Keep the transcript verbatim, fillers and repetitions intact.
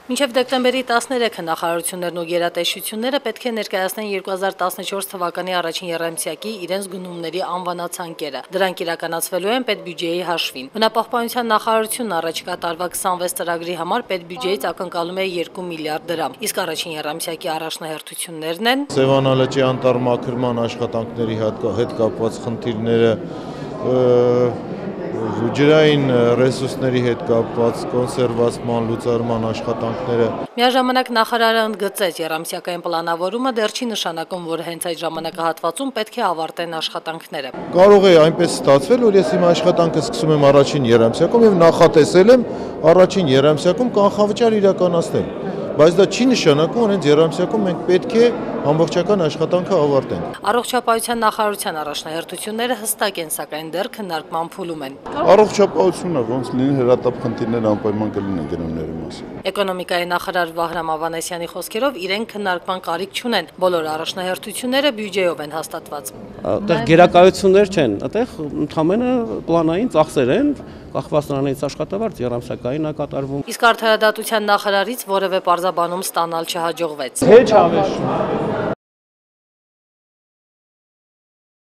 Մինչև դեկտեմբերի տասներեքը նախարարություններն ու գերատեսչությունները պետք է ներկայացնեն երկու հազար տասնչորս թվականի առաջին եռամսյակի իրենց գնումների անվանացանկերը։ Դրանք իրականացվելու են պետբյուջեի հաշվին։ Բնապահպանության նախարարությունն առաջիկա տարվա քսանվեց ծրագրի համար պետբյուջեից ակնկալում է երկու միլիարդ դրամ, իսկ առաջին եռամսյակի առաջնահերթություններն են Սևանալճի անտառմաքրման աշխատանքների հետ կապված խնդիրները, ջրային ռեսուրսների հետ կապված կոնսերվացման, լուծարման աշխատանքները։ Միաժամանակ նախարարը ընդգծեց, եռամսյակային պլանավորումը դեռ չի նշանակում, որ հենց այդ ժամանակահատվածում պետք է ավարտեն աշխատանքները։ Կարող է այնպես ստացվել, որ ես իմ աշխատանքը սկսում եմ առաջին եռամսյակում եւ նախատեսել եմ առաջին եռամսյակում կանխավճար իրականացնել, բայց դա չի նշանակում, որ հենց եռամսյակում մենք պետք է ամբողջական աշխատանքը ավարտենք։ Առողջապահության նախարարության առաջնահերթությունները հստակ են, սակայն դեռ քննարկման փուլում են։ Առողջապահությունը ոնց լինի հրատապ խնդիրներ անպայման կլինեն գնումների մասին։ Էկոնոմիկայի նախարար Վահրամ Ավանեսյանի խոսքերով իրենք քննարկման կարիք չունեն։ Բոլոր առաջնահերթությունները բյուջեով են հաստատված։ Այդտեղ գերակայություններ չեն, այդտեղ ընդհանրապես պլանային ծախսեր են, կախված նրանից աշխատավարձ եռամսյակային է կատարվում։ Իսկ արդարադատության նախարարից որևէ պարզաբանում ստանալ չհաջողվեց։ Հեչ հավես։